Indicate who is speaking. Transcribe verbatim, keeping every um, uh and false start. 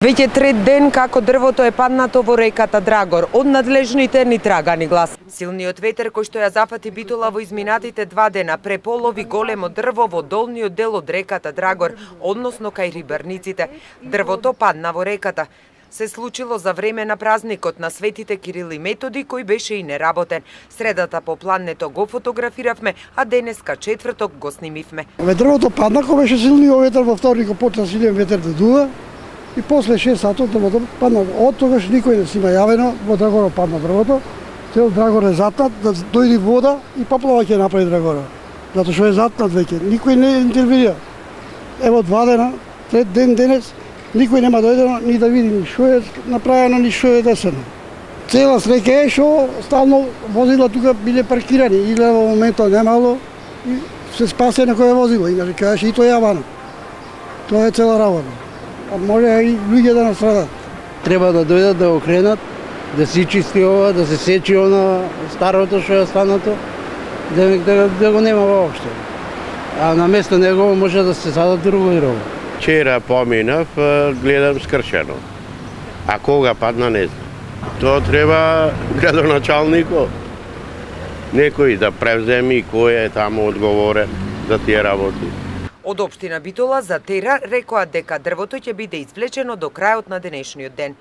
Speaker 1: Веќе трет ден како дрвото е паднато во реката Драгор, од надлежните ни трагани глас. Силниот ветер кој што ја зафати Битола во изминатите два дена преполови големо дрво во долниот дел од реката Драгор, односно кај рибарниците. Дрвото падна во реката. Се случило за време на празникот на светите Кирил и Методи, кој беше и неработен. Средата по плането го фотографиравме, а денеска четврток го снимивме.
Speaker 2: Дрвото падна кога беше силниот ветер, во вторникот почна силен ветер да дува. И после шест сатот дрвото падна. Од тогаш никој не си има јавено, во Драгора падна дрвото. Цел Драгор е затнат, да дојде вода и поплава ќе направи Драгора. Затоа што е затнат веќе. Никој не интервенира. Ево два дена, трет ден денес, никој нема дојдено ни да види ни што е направено, ни што е десено. Цела среќа е што стално возила тука биле паркирани, и во моментот немало и се спасе некој возило, иначе кажеше и тоа јавано. Тоа е цела работа. А може и луѓе да настрадат.
Speaker 3: Треба да дојдат да го кренат, да се чисти ова, да се сечи она старото што е останато, да, да, да го нема воопшто. А на место него може да се садат друго и друго.
Speaker 4: Вчера поминав, гледам скршено. А кога падна не знам. Тоа треба градоначалникот. Некој да превземи кој е таму одговорен за тие работи.
Speaker 1: Од општина Битола за Тера рекоа дека дрвото ќе биде извлечено до крајот на денешниот ден.